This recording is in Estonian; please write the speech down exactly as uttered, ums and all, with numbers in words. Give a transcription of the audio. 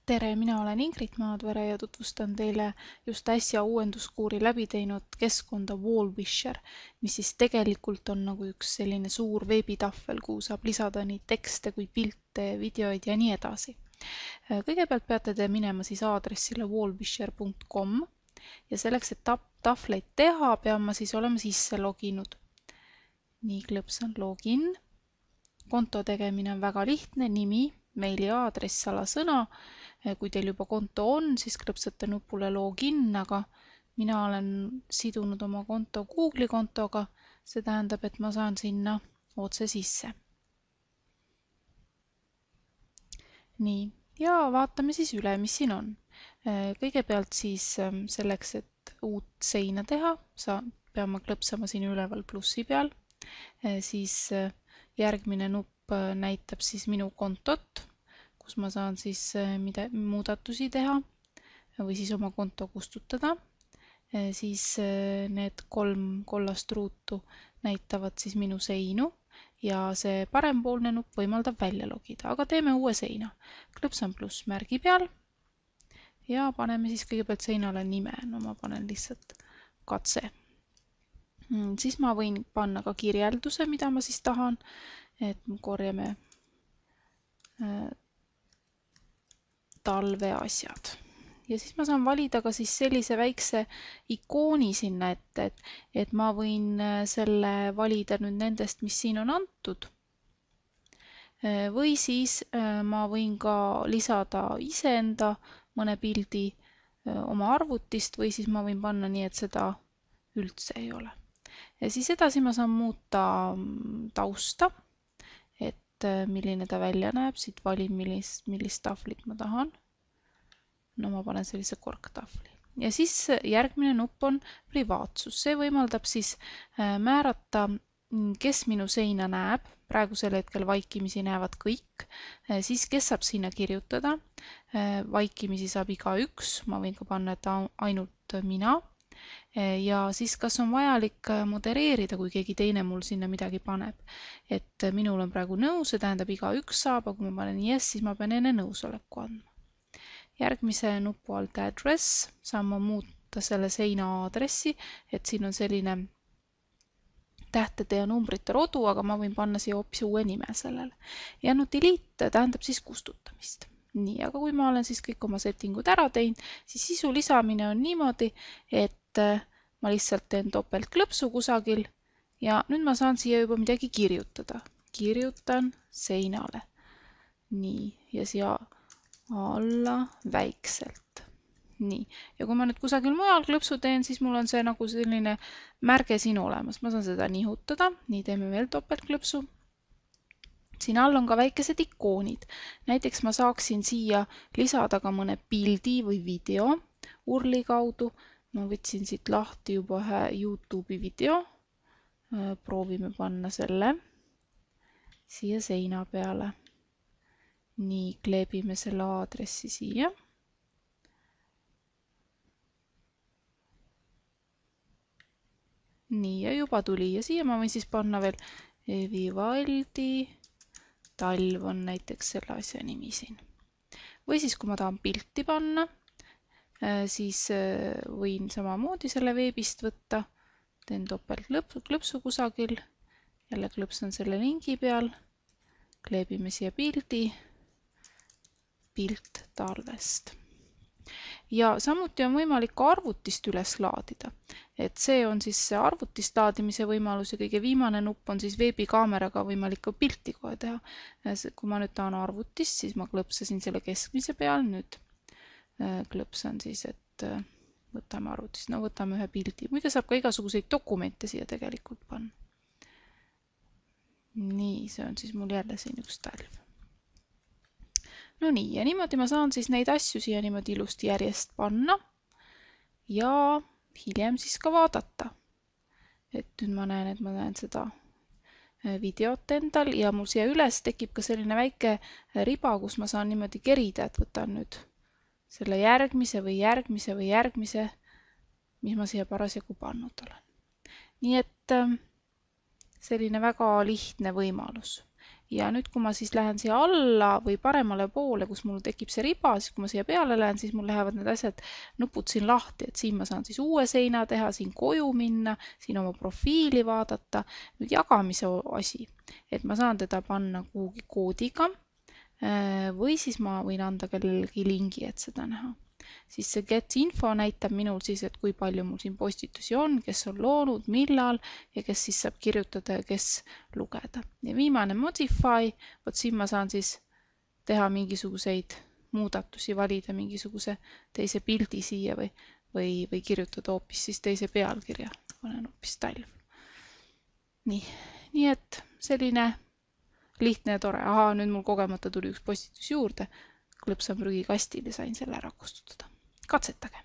Tere, mina olen Ingrid Maadvere ja tutvustan teile just äsja uuenduskuuri läbi teinud keskkonda Wallwisher, mis siis tegelikult on nagu üks selline suur veebitahvel, kuhu saab lisada nii tekste kui pilte, videoid ja nii edasi. Kõigepealt peate te minema siis aadressile wallwisher punkt com ja selleks, et tahvleid teha, pean ma siis olema sisse loginud. Nii, klõpsan login. Konto tegemine on väga lihtne, nimi, meili aadress, salasõna. Kui teil juba konto on, siis klõpsate nupule login, aga mina olen sidunud oma konto Google'i kontoga. See tähendab, et ma saan sinna otse sisse. Nii, ja vaatame siis üle, mis siin on. Kõigepealt siis selleks, et uut seina teha, pean ma klõpsama siin üleval plussi peal. Siis järgmine nupp näitab siis minu kontot, kus ma saan siis mida, muudatusi teha või siis oma konto kustutada. Siis need kolm kollast ruutu näitavad siis minu seinu ja see parempoolne nupp võimaldab välja logida, aga teeme uue seina. Klõpsan plussmärgi peal ja paneme siis kõigepealt seinale nime. No ma panen lihtsalt katse. Siis ma võin panna ka kirjelduse, mida ma siis tahan, et korjame talveasjad. Ja siis ma saan valida ka siis sellise väikse ikooni sinna ette, et, et ma võin selle valida nüüd nendest, mis siin on antud. Või siis ma võin ka lisada iseenda mõne pildi oma arvutist või siis ma võin panna nii, et seda üldse ei ole. Ja siis edasi ma saan muuta tausta, et milline ta välja näeb. Siit valin, millist, millist tahvlit ma tahan. No ma panen sellise korktahvli. Ja siis järgmine nupp on privaatsus. See võimaldab siis määrata, kes minu seina näeb. Praegusel hetkel vaikimisi näevad kõik. Siis kes saab sinna kirjutada. Vaikimisi saab iga üks. Ma võin ka panna, et ainult mina. Ja siis kas on vajalik modereerida, kui keegi teine mul sinna midagi paneb. Et minul on praegu nõus, see tähendab iga üks saab, aga kui ma panen yes, siis ma pean enne nõusoleku andma. Järgmise nupu alt address saan ma muuta selle seina aadressi, et siin on selline tähtede ja numbrite rodu, aga ma võin panna siia hoopis uue nime sellele. Ja nüüd delete tähendab siis kustutamist. Nii, aga kui ma olen siis kõik oma settingud ära teinud, siis sisu lisamine on niimoodi, et ma lihtsalt teen topeltklõpsu kusagil ja nüüd ma saan siia juba midagi kirjutada. Kirjutan seinale. Nii, ja siia alla väikselt. Nii, ja kui ma nüüd kusagil mujal klõpsu teen, siis mul on see nagu selline märge siin olemas. Ma saan seda nihutada. Nii, teeme veel topeltklõpsu. Siin all on ka väikesed ikoonid. Näiteks ma saaksin siia lisada ka mõne pildi või video urli kaudu. Ma võtsin siit lahti juba ühe YouTube'i video. Proovime panna selle siia seina peale. Nii, kleebime selle aadressi siia. Nii, ja juba tuli. Ja siia ma võin siis panna veel Vivaldi talv on näiteks selle asja nimi siin. Või siis, kui ma tahan pilti panna, siis võin samamoodi selle veebist võtta. Teen topeltklõpsu kusagil. Jälle klõpsan selle lingi peal. Kleebime siia pildi. Pilt talvest. Ja samuti on võimalik ka arvutist üles laadida. Et see on siis see arvutist laadimise võimalus ja kõige viimane nupp on siis veebikaameraga võimalik ka pilti kohe teha. Kui ma nüüd tahan arvutist, siis ma klõpsasin selle keskmise peal. Nüüd klõpsan siis, et võtame arvutist. No võtame ühe pildi. Muide saab ka igasuguseid dokumente siia tegelikult panna. Nii, see on siis mul jälle siin üks talv. No nii, ja niimoodi ma saan siis neid asju siia niimoodi ilusti järjest panna ja hiljem siis ka vaadata. Et nüüd ma näen, et ma näen seda videot endal ja mul siia üles tekib ka selline väike riba, kus ma saan niimoodi kerida, et võtan nüüd selle järgmise või järgmise või järgmise, mis ma siia parasjagu pannud olen. Nii et selline väga lihtne võimalus. ja nüüd, kui ma siis lähen siia alla või paremale poole, kus mul tekib see riba, siis kui ma siia peale lähen, siis mul lähevad need asjad, nupud siin lahti, et siin ma saan siis uue seina teha, siin koju minna, siin oma profiili vaadata. Nüüd jagamise asi, et ma saan teda panna kuhugi koodiga või siis ma võin anda kellelegi lingi, et seda näha. Siis see get info näitab minul siis, et kui palju mul siin postitusi on, kes on loonud, millal ja kes siis saab kirjutada ja kes lugeda. Ja viimane modify, vot siin ma saan siis teha mingisuguseid muudatusi, valida mingisuguse teise pildi siia või, või, või kirjutada hoopis siis teise pealkirja. Panen hoopis talv. Nii, nii et selline lihtne ja tore. Aha, nüüd mul kogemata tuli üks postitus juurde. Klõpsan prügikastile, sain selle ära kustutada. Katsetage!